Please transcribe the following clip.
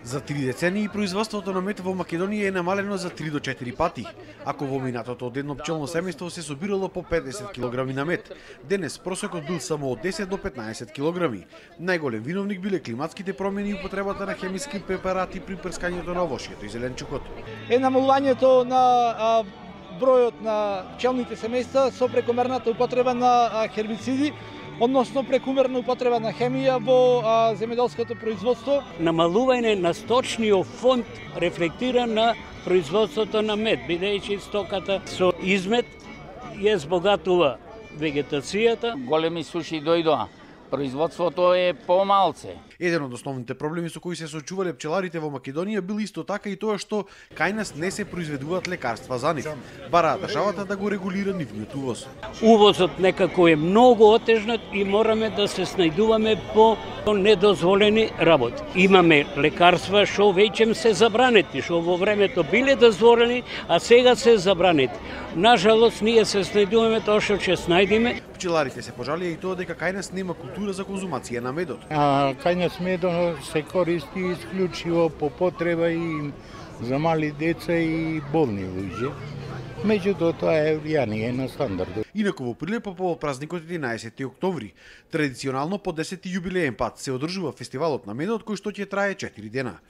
За 3 децении производството на мед во Македонија е намалено за 3 до 4 пати. Ако во минатото од едно пчелно семејство се собирало по 50 килограми на мед, денес просекот бил само од 10 до 15 килограми. Најголем виновник биле климатските промени и употребата на хемиски препарати при прскањето на овошјето и зеленчукот. Е намалувањето на бројот на пчелните семејства со прекомерната употреба на хербициди, односно прекумерна употреба на хемија во земјоделското производство. Намалување на сточниот фонд рефлектира на производството на мед, бидејќи стоката со измет ја збогатува вегетацијата. Големи суши дојдоа. Производството е помалце. Еден од основните проблеми со кои се соочувале пчеларите во Македонија бил исто така и тоа што кај нас не се произведуваат лекарства за нив. Бараа државата да го регулира нивниот увоз. Увозот некако е многу отежнат и мораме да се снајдуваме по недозволени работи. Имаме лекарства што веќе се забранети, што во времето биле дозволени, а сега се забранети. Нажалост, ние се снајдуваме тоа што ќе снајдеме. Пчеларите се пожалија и тоа дека кај нас нема култура за конзумација на медот. Кај нас медот се користи исклучиво по потреба и за мали деца и болни луѓе. Меѓутоа тоа е влијание на стандардот. Инаку во Прилеп по повод празникот 11 октомври, традиционално по 10 јубилеен пат се одржува фестивалот на медот кој што ќе трае 4 дена.